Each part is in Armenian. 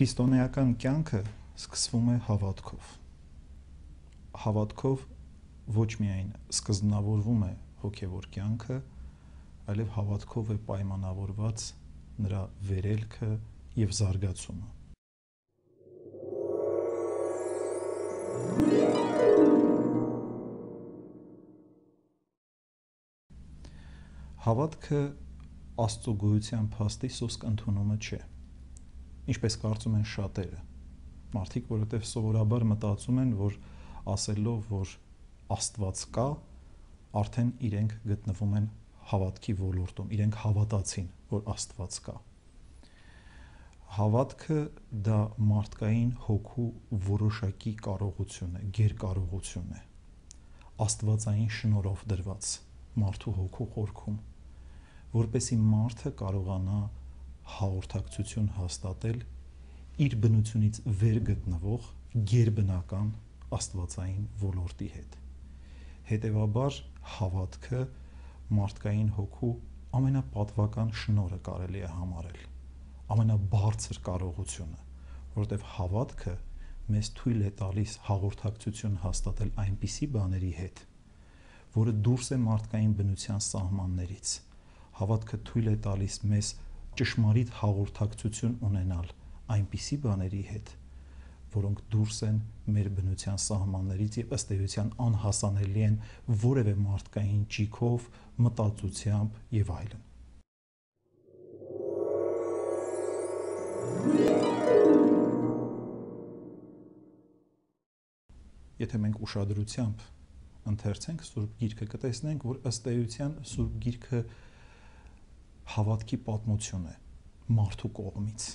Քրիստոնեական կյանքը սկսվում է հավատքով։ Հավատքով ոչ միայն սկզբնավորվում է հոգևոր կյանքը, այլև հավատքով է պայմանավորված նրա վերելքը և զարգացումը։ Հավատքը Աստծո գոյության փաստի սոսկ ընդունումը չէ, ինչպես կարծում են շատերը։ Մարդիկ, որովհետև սովորաբար մտածում են, որ ասելով, որ Աստված կա, արդեն իրենք գտնվում են հավատքի ոլորտում, իրենք հավատացին, որ Աստված կա։ Հավատքը դա մարդկային հոգու որոշակի կարողություն է, գերկարողություն է, աստվածային շնորհով դրված մարդու հոգու խորքում, որպեսզի մարդը կարողանա հաղորդակցություն հաստատել իր բնությունից վեր գտնվող գերբնական աստվածային ոլորտի հետ։ Հետևաբար հավատքը մարդկային հոգու ամենապատվական շնորհը կարելի է համարել, ամենաբարձր կարողությունը, որովհետև հավատքը մեզ թույլ է տալիս հաղորդակցություն հաստատել այնպիսի բաների հետ, որը դուրս է մարդկային բնության սահմաններից։ Հավատքը թույլ է տալիս մեզ ճշմարիտ հաղորդակցություն ունենալ այնպիսի բաների հետ, որոնք դուրս են մեր բնության սահմաններից և ըստ էության անհասանելի են որևէ մարդկային ճիգով, մտածությամբ և այլն։ Եթե մենք ուշադրությամբ ընթերցենք Սուրբ Գիրքը, կտեսնենք, որ ըստ էության Սուրբ Գիրքը հավատքի պատմություն է մարդու կողմից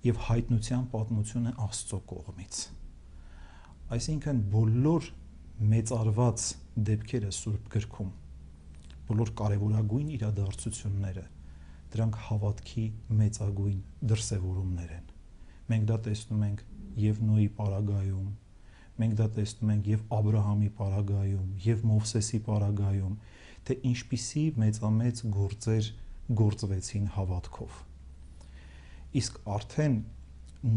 և հայտնության պատմություն է Աստծո կողմից։ Այսինքն բոլոր մեծարված դեպքերը Սուրբ Գրքում, բոլոր կարևորագույն իրադարձությունները, դրանք հավատքի մեծագույն դրսևորումներ են։ Մենք դա տեսնում ենք և Նոյի պարագայում, մենք դա տեսնում ենք և Աբրահամի պարագայում, և Մովսեսի պարագայում, թե ինչպիսի մեծամեծ գործեր գործվեցին հավատքով։ Իսկ արդեն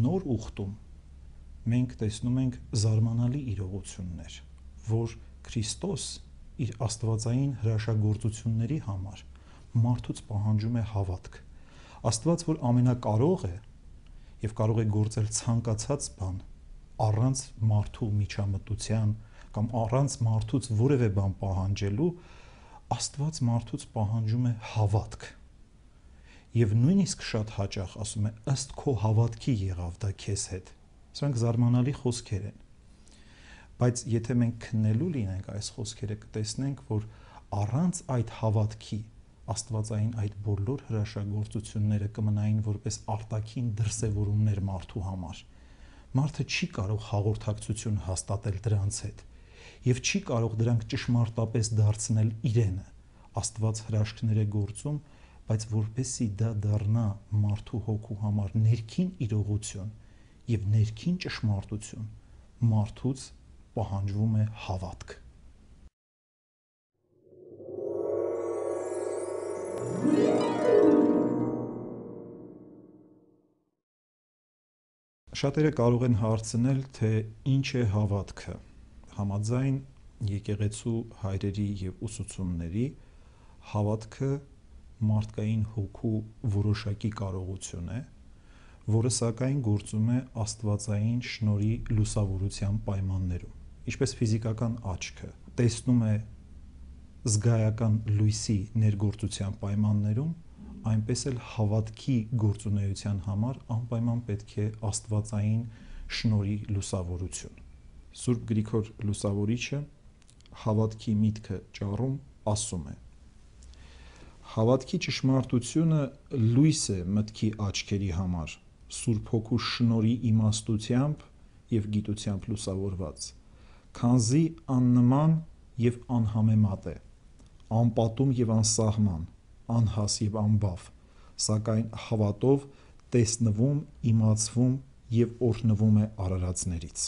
նոր ուխտում մենք տեսնում ենք զարմանալի իրողություններ, որ Քրիստոս իր աստվածային հրաշագործությունների համար մարդուց պահանջում է հավատք։ Աստված, որ ամենակարող է և կարող է գործել ցանկացած բան առանց մարդու միջամտության կամ առանց մարդուց որևէ բան պահանջելու, Աստված մարդուց պահանջում է հավատք։ Եվ նույնիսկ շատ հաճախ ասում է, ըստ քո հավատքի եղավ դա քեզ հետ։ Սրանք զարմանալի խոսքեր են։ Բայց եթե մենք քննելու լինենք այս խոսքերը, կտեսնենք, որ առանց այդ հավատքի աստվածային այդ բոլոր հրաշագործությունները կմնային որպես արտաքին դրսևորումներ մարդու համար։ Մարդը չի կարող հաղորդակցություն հաստատել դրանց հետ և չի կարող դրանք ճշմարտապես դարձնել իրենը։ Աստված հրաշքներ է գործում, բայց որպեսզի դա դառնա մարդու հոգու համար ներքին իրողություն և ներքին ճշմարտություն, մարդուց պահանջվում է հավատք։ Շատերը կարող են հարցնել, թե ինչ է հավատքը։ Համաձայն եկեղեցու հայրերի և ուսուցումների, հավատքը մարդկային հոգու որոշակի կարողություն է, որը սակայն գործում է աստվածային շնորհի լուսավորության պայմաններում, ինչպես ֆիզիկական աչքը տեսնում է զգայական լույսի ներգործության պայմաններում, այնպես էլ հավատքի գործունեության համար անպայման պետք է աստվածային շնորհի լուսավորություն։ Սուրբ Գրիգոր Լուսավորիչը հավատքի միտքը ճառում ասում է. Հավատքի ճշմարտությունը լույս է մտքի աչքերի համար, Սուրբ Հոգու շնորհի իմաստությամբ և գիտությամբ լուսավորված, քանզի աննման և անհամեմատ է, անպատում և անսահման, անհաս և անբավ, սակայն հավատով տեսնվում, իմացվում և օրհնվում է արարածներից։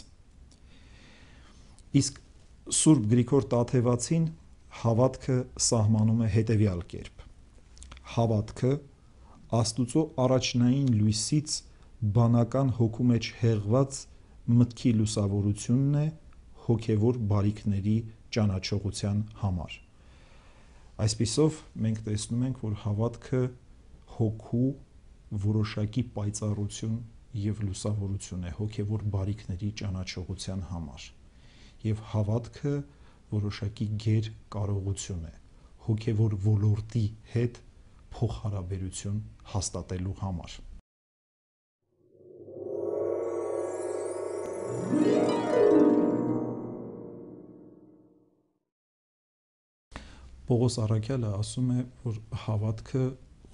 Իսկ Սուրբ Գրիգոր Տաթևացին հավատքը սահմանում է հետևյալ կերպ. հավատքը Աստուծո առաջնային լույսից բանական հոգու մեջ հեղված մտքի լուսավորությունն է հոգևոր բարիքների ճանաչողության համար։ Այսպիսով մենք տեսնում ենք, որ հավատքը հոգու որոշակի պայծառություն և լուսավորություն է հոգևոր բարիքների ճանաչողության համար, և հավատքը որոշակի գեր կարողություն է հոգևոր ոլորտի հետ փոխհարաբերություն հաստատելու համար։ Պողոս առաքյալը ասում է, որ հավատքը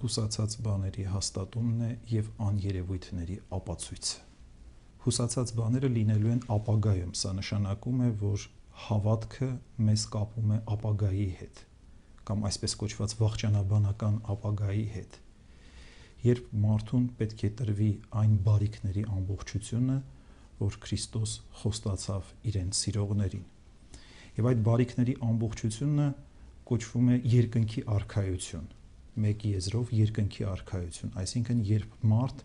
հուսացած բաների հաստատումն է և աներևույթների ապացույցը։ Հուսացած բաները լինելու են ապագայում, սա նշանակում է, որ հավատքը մեզ կապում է ապագայի հետ, կամ այսպես կոչված վախճանաբանական ապագայի հետ, երբ մարդուն պետք է տրվի այն բարիքների ամբողջությունը, որ Քրիստոս խոստացավ իրեն սիրողներին։ Եվ այդ բարիքների ամբողջությունը կոչվում է երկնքի արքայություն, մեկ եզրով երկնքի արքայություն, այսինքն երբ մարդ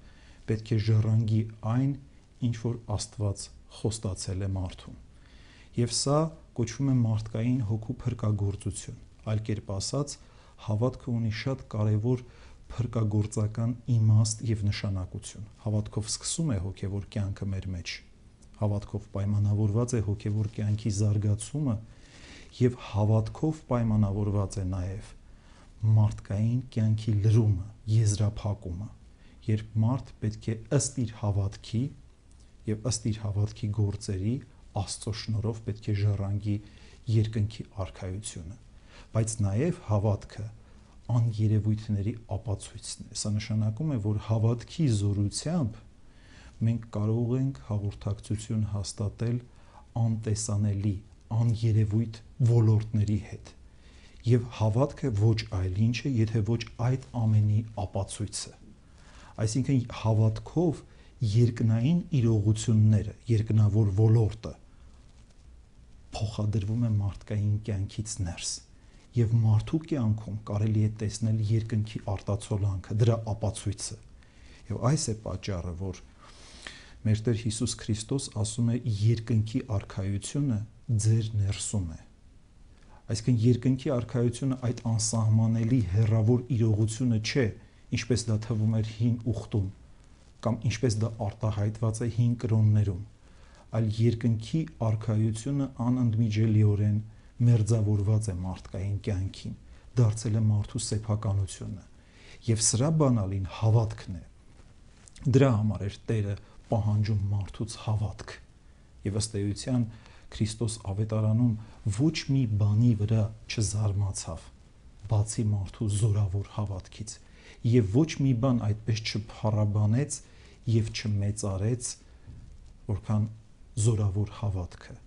պետք է ժառանգի այն, ինչ որ Աստված խոստացել է մարդուն։ Եվ սա կոչվում է մարդկային հոգու փրկագործություն, այլ կերպ ասած, հավատքը ունի շատ կարևոր փրկագործական իմաստ և նշանակություն։ Հավատքով սկսում է հոգևոր կյանքը մեր մեջ, հավատքով պայմանավորված է հոգևոր կյանքի զարգացումը և հավատքով պայմանավորված է նաև մարդկային կյանքի լրումը, եզրափակումը, երբ մարդ պետք է ըստ իր հավատքի և ըստ իր հավատքի գործերի Աստծո շնորհով պետք է ժառանգի երկնքի արքայությունը, բայց նաև հավատքը աներևույթների ապացույցն է։ Սա նշանակում է, որ հավատքի զորությամբ մենք կարող ենք հաղորդակցություն հաստատել անտեսանելի, աներևույթ ոլորտների հետ, և հավատքը ոչ այլ ինչ է, եթե ոչ այդ ամենի ապացույցը։ Այսինքն հավատքով երկնային իրողությունները, երկնավոր ոլորտը փոխադրվում է մարդկային կյանքից ներս, և մարդու կյանքում կարելի է տեսնել երկնքի արտացոլանքը, դրա ապացույցը։ Եվ այս է պատճառը, որ մեր Տեր Հիսուս Քրիստոս ասում է երկնքի արքայությունը ձեր ներսում է։ Այսինքն երկնքի արքայությունը այդ անսահմանելի հեռավոր իրողությունը չէ, ինչպես դա թվում էր հին ուխտում, կամ ինչպես դա արտահայտված է հին կրոններում, այլ երկնքի արքայությունը անընդմիջելիորեն մերձավորված է մարդկային կյանքին, դարձել է մարդու սեփականությունը, և սրա բանալին հավատքն է։ Դրա համար էր Տերը պահանջում մարդուց հավատք, և ըստ էության Քրիստոս ավետարանում ոչ մի բանի վրա չզարմացավ, բացի մարդու զորավոր հավատքից, և ոչ մի բան այդպես չփառաբանեց և չմեծարեց, որքան զորավոր հավատքը,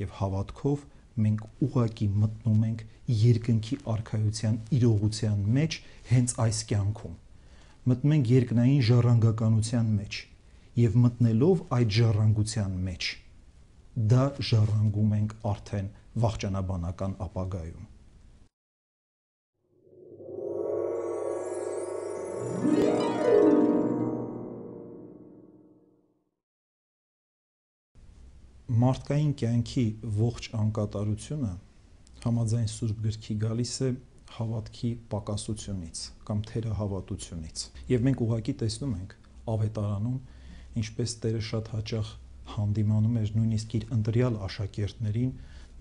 և հավատքով մենք ուղղակի մտնում ենք երկնքի արքայության իրողության մեջ հենց այս կյանքում, մտնում ենք երկնային ժառանգականության մեջ, և մտնելով այդ ժառանգության մեջ, դա ժառանգում ենք արդեն վախճանաբանական ապագայում։ Մարդկային կյանքի ողջ անկատարությունը համաձայն Սուրբ Գրքի գալիս է հավատքի պակասությունից կամ թերահավատությունից, և մենք ուղղակի տեսնում ենք ավետարանում, ինչպես Տերը շատ հաճախ հանդիմանում էր նույնիսկ իր ընտրյալ աշակերտներին,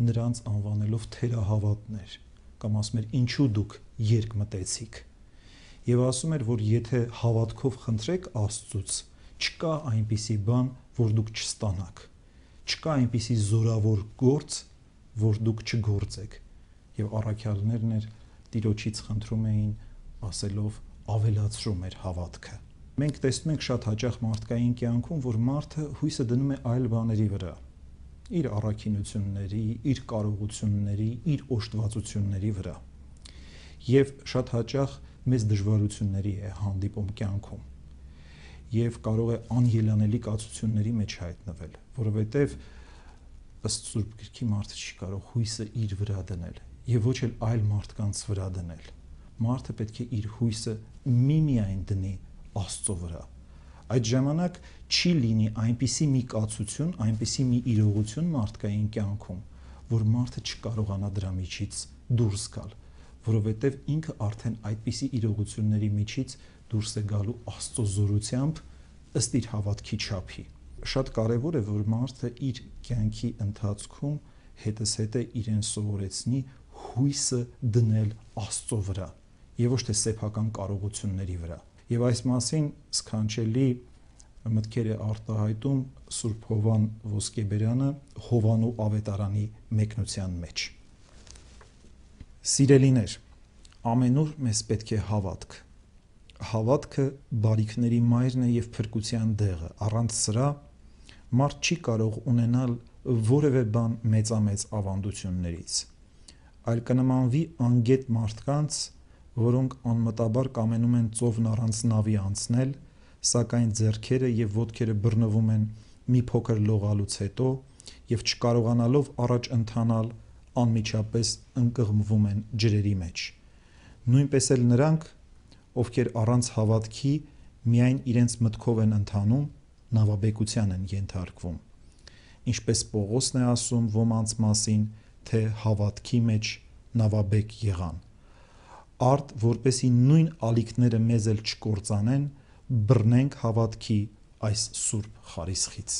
նրանց անվանելով թերահավատներ, կամ ասում էր ինչու դուք երկմտեցիք, և ասում էր, որ եթե հավատքով խնդրեք Աստծուց, չկա այնպիսի բան, որ դուք չստանաք, չկա այնպիսի զորավոր գործ, որ դուք չգործեք, և առաքյալներն էր Տիրոջից խնդրում էին, ասելով ավելացրու մեր հավատքը։ Մենք տեսնում ենք շատ հաճախ մարդկային կյանքում, որ մարդը հույսը դնում է այլ բաների վրա, իր առաքինությունների, իր կարողությունների, իր օժտվածությունների վրա, և շատ հաճախ մեծ դժվարությունների է հանդիպում կյանքում, և կարող է անելանելի կացությունների մեջ հայտնվել, որովհետև ըստ Սուրբ Գրքի մարդը չի կարող հույսը իր վրա դնել և ոչ էլ այլ մարդկանց վրա դնել։ Մարդը պետք է իր հույսը միմիայն դնի Աստծո վրա, Այդ ժամանակ չի լինի այնպիսի մի կացություն, այնպիսի մի իրողություն մարդկային կյանքում, որ մարդը չկարողանա դրա միջից դուրս գալ, որովհետև ինքը արդեն այդպիսի իրողությունների միջից դուրս է գալու Աստծո զորությամբ ըստ իր հավատքի չափի։ Շատ կարևոր է, որ մարդը իր կյանքի ընթացքում հետզհետե իրեն սովորեցնի հույսը դնել Աստծո վրա եւ ոչ թե սեփական կարողությունների վրա։ Եվ այս մասին սքանչելի մտքեր է արտահայտում Սուրբ Հովան Ոսկեբերյանը Հովանու ավետարանի մեկնության մեջ։ Սիրելիներ, ամենուր մեզ պետք է հավատք։ Հավատքը բարիքների մայրն է եւ փրկության դեղը։ Առանց սրա մարդ չի կարող ունենալ որևէ բան մեծամեծ ավանդություններից, այլ կնմանվի անգետ մարդկանց, որոնք անմտաբար կամենում են ծովն առանց նավի անցնել, սակայն ձեռքերը եւ ոտքերը բռնվում են մի փոքր լողալուց հետո եւ չկարողանալով առաջ ընթանալ անմիջապես ընկղմվում են ջրերի մեջ։ Նույնպես էլ նրանք, ովքեր առանց հավատքի միայն իրենց մտքով են ընթանում, նավաբեկության են ենթարկվում։ Ինչպես Պողոսն է ասում ոմանց մասին, թե հավատքի մեջ նավաբեկ եղան։ Արդ որպեսի նույն ալիքները մեզ էլ չկործանեն, բռնենք հավատքի այս սուրբ խարիսխից։